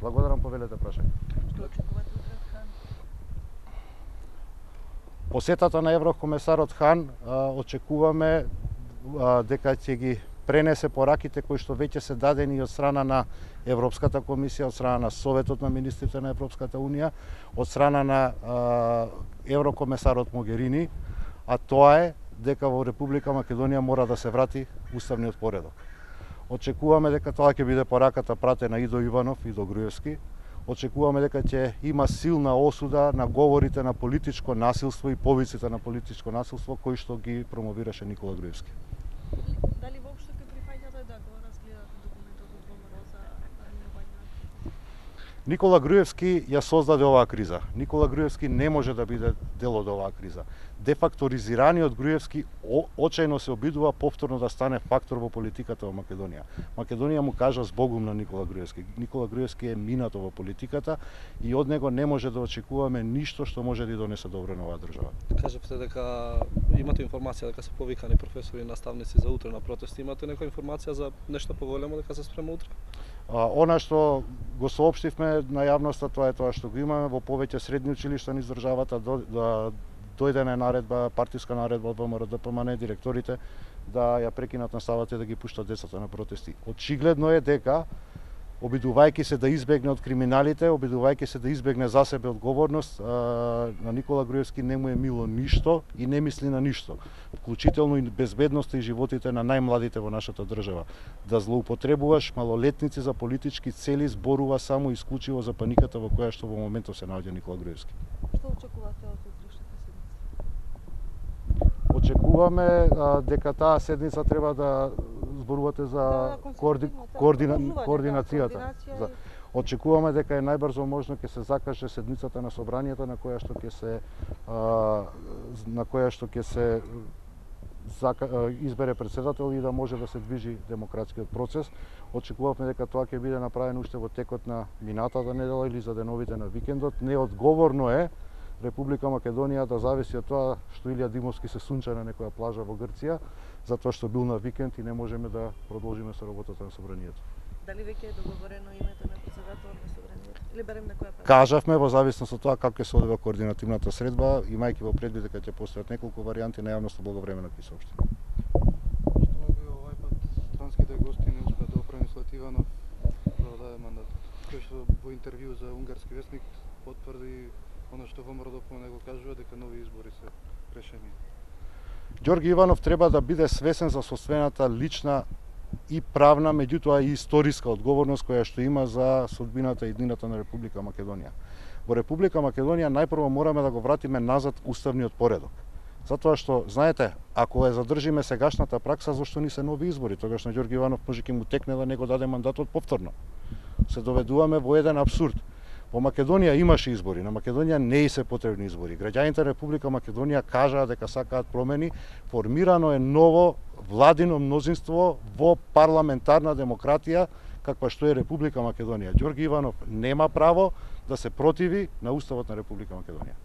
Благодарам, повелете прашање. Што очекувате утре од Хан? Посетата на еврокомесарот Хан очекуваме дека ќе ги пренесе пораките кои што веќе се дадени од страна на Европската комисија, од страна на Советот на министрите на Европската унија, од страна на еврокомесарот Могерини, а тоа е дека во Република Македонија мора да се врати уставниот поредок. Очекуваме дека тоа ќе биде пораката пратена и до Иванов и до Груевски. Очекуваме дека ќе има силна осуда на говорите на политичко насилство и повиците на политичко насилство кои што ги промовираше Никола Груевски. Дали воопшто ќе прифаќате да го разгледате документот од ВМРО за минување? Никола Груевски ја создаде оваа криза. Никола Груевски не може да биде дел од оваа криза. Дефакторизираниот Груевски очајно се обидува повторно да стане фактор во политиката во Македонија. Македонија му кажа збогум на Никола Груевски. Никола Груевски е минато во политиката и од него не може да очекуваме ништо што може да донесе добро на оваа држава. Кажавте дека имате информација дека се повикани професори и наставници за утре на протести. Имате некоја информација за нешто поголемо дека се спрема утре? Она што го соопштивме на јавноста, тоа е тоа што го имаме во повеќе средни училишта низ државата, дојдена е наредба, партиска наредба од ВМРО ДПМН, директорите да ја прекинат наставата и да ги пуштат децата на протести. Очигледно е дека обидувајќи се да избегне од криминалите, обидувајќи се да избегне за себе одговорност, на Никола Груевски не му е мило ништо и не мисли на ништо, вклучително и безбедноста и животите на најмладите во нашата држава. Да злоупотребуваш малолетници за политички цели зборува само исклучиво за паниката во која што во моментов се наоѓа Никола Груевски. Што очекувате од утрешната седница? Очекуваме дека таа седница треба да зборувате за координацијата. Очекуваме дека е најбрзо можно ќе се закаже седницата на собранието на која што ќе се избере председател и да може да се движи демократскиот процес. Очекувавме дека тоа ќе биде направено уште во текот на минатата недела или за деновите на викендот. Неодговорно е Република Македонија да зависи од тоа што Илија Димовски се сунча на некоја плажа во Грција, затоа што бил на викенд и не можеме да продолжиме со работата на собранието. Дали веќе е договорено името на председателот на собранието? Или барем некоја пат? Кажавме во зависност од тоа како ќе се одвива координативната средба, имајќи во предвид дека ќе постојат неколку варијанти, на јавноста благовремено ќе соопштиме. Што би овај пат странските гости не успеа да опреми Слативанов да даде мандат? Кој што во интервју за унгарски весник потврди она што ВМРО ДПМН го кажува дека нови избори се решени. Ѓорги Иванов треба да биде свесен за собствената лична и правна, меѓутоа и историска одговорност која што има за судбината и иднината на Република Македонија. Во Република Македонија најпрво мораме да го вратиме назад уставниот поредок. Затоа што, знаете, ако ја задржиме сегашната пракса, зашто ни се нови избори? Тогаш на Ѓорги Иванов може ќе му текне да не го даде мандатот повторно. Се доведуваме во еден апсурд. Во Македонија имаше избори, на Македонија не и се потребни избори. Граѓаните на Република Македонија кажаа дека сакаат промени, формирано е ново владино мнозинство во парламентарна демократија, каква што е Република Македонија. Ѓорги Иванов нема право да се противи на Уставот на Република Македонија.